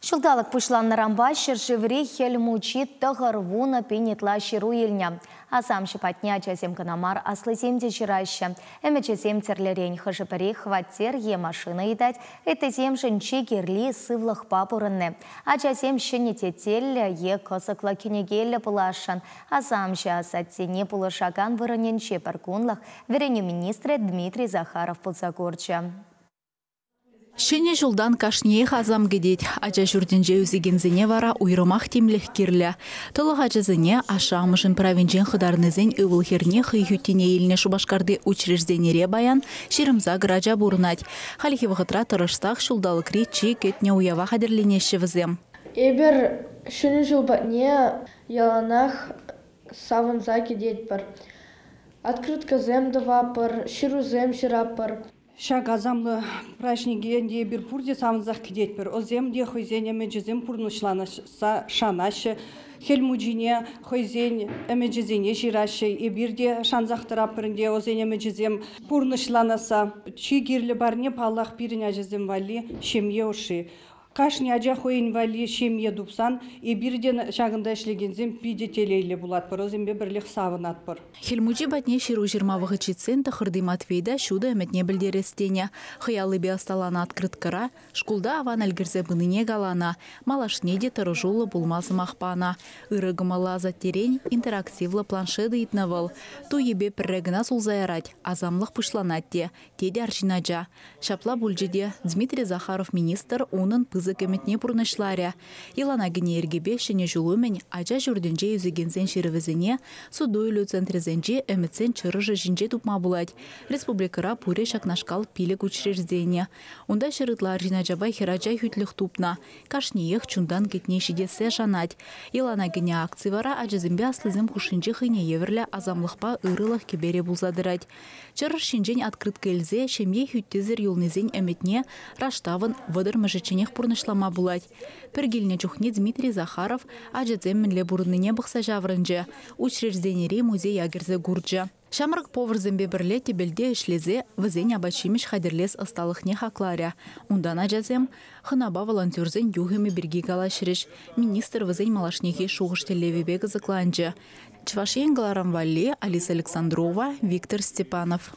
Ҫулталӑк пуҫланнӑранпа ҫӗршыври Хӗл Мучи 90 пин ытла ҫыру илнӗ. Асамҫӑ патне ачасем кӑна мар, аслисем те ҫыраҫҫӗ. Ӗмӗчӗсем тӗрлӗрен, хӑшӗ-пӗри хваттер е машина ыйтать, ыттисемшӗн чи кирли сывлӑхпа пурӑнни. Ачасем ҫӗнӗ тетеллӗ е кӑсӑклӑ кӗнекеллӗ пуласшӑн. Асамҫӑ асаттене пулӑшакан вырӑнӗнче пӗр кунлӑх вӗренӳ министрӗ Дмитрий Захаров пулса курчӗ. Ҫӗнӗ ҫултан кашниех асам кӗтет. Ача ҫуртӗнче ӳсекенсене вара уйрӑмах тимлӗх кирлӗ. Тӑлӑх ачасене ашшӗ-амӑшӗн правинчен хӑтарнисен ывӑл-хӗрне хӑй хӳттине илнӗ Шупашкарти учрежденире паян 28 ача пурӑнать. Хальхи вӑхӑтра тӑрӑшсах ҫулталӑкри чи кӗтнӗ уява хатӗрленеҫҫӗ вӗсем. Эпир Ҫӗнӗ ҫул патне яланах савӑнса кӗтетпӗр. Открыткӑсем тӑватпӑр, ҫырусем ҫыратпӑр. Ҫак асамлӑ праҫнике ӗнтӗ эпир пурте савӑнсах кӗтетпӗр. Ӑсем те хӑйсен ӗмӗчӗсем пурнӑҫланасса шанаҫҫӗ. Хӗл Мучине хӑйсен ӗмӗчӗсене ҫыраҫҫӗ. Эпир те шансах тӑратпӑр ӗнтӗ ӑсен ӗмӗчӗсем пурнӑҫланасса. Чи кирлӗ парне, паллах, пирӗн ачасем валли ҫемье ӑшши. Кашни ача хӑйӗн валли ҫемье тупсан эпир те ҫакӑнта ӗҫлекенсем питӗ телейлӗ пулатпӑр, вӗсемпе пӗрлех савӑнатпӑр. Хӗл Мучи патне ҫыру ҫырма вӑхӑт ҫитсен тӑхӑрти Матвей та ҫутӑ ӗмӗтне пӗлтерес тенӗ. Хӑй аллипе ӑсталанӑ открыткӑра шкулта аван ӗлкӗрсе пынине каланӑ, малашне те тӑрӑшуллӑ пулма сӑмах панӑ. Ырӑ кӑмӑллӑ асаттерен интерактивлӑ планшет ыйтнӑ вӑл. Туйӗпе пӗрре кӑна сулса ярать, асамлӑх пуҫланать те, тет арҫын ача. Ҫапла пулчӗ те Дмитрий Захаров министр унӑн пысӑк ӗмӗтне пурнӑҫларӗ. Йӑлана кӗнӗ йӗркепе Ҫӗнӗ ҫул умӗн ача ҫуртӗнче ӳсекенсен ҫырӑвӗсене суту-илӳ центрӗсенчи ӗмӗтсен чӑрӑшӗ ҫинче тупма пулать. Республикӑра пурӗ ҫакнашкал 5 учреждени. Унта 100 ытла арҫын ачапа хӗрача хӳтлӗх тупнӑ. Кашниех чунтан кӗтне ҫитессе шанать. Йӑлана кӗнӗ акци вара ачасемпе аслисем хушшинче хӑйне евӗрлӗ асамлӑхпа ырӑлӑх кӗперӗ пулса тӑрать. Чӑрӑш ҫинчен открытка илсе ҫемье хӳттисӗр юлнисен ӗмӗтне Раштавӑн вӑтӑрмӗшӗчченех пурнӑҫлама пулать. Пӗр килнӗ чухне Дмитрий Захаров ачасем мӗнле пурӑннине пӑхса ҫаврӑнчӗ, учрежденири музея кӗрсе курчӗ. Ҫамрӑк поварсемпе пӗрле тӗпелте ӗҫлесе вӗсен апат-ҫимӗҫ хатӗрлес ӑсталӑхне хакларӗ. Унтан ачасем хӑнапа волонтерсен юхӑмӗ пирки калаҫрӗҫ. Министр вӗсен малашнехи шухӑш тӗллевӗпе кӑсӑкланчӗ. Чӑваш Ен кӑларӑм валли Алиса Александрова, Виктор Степанов.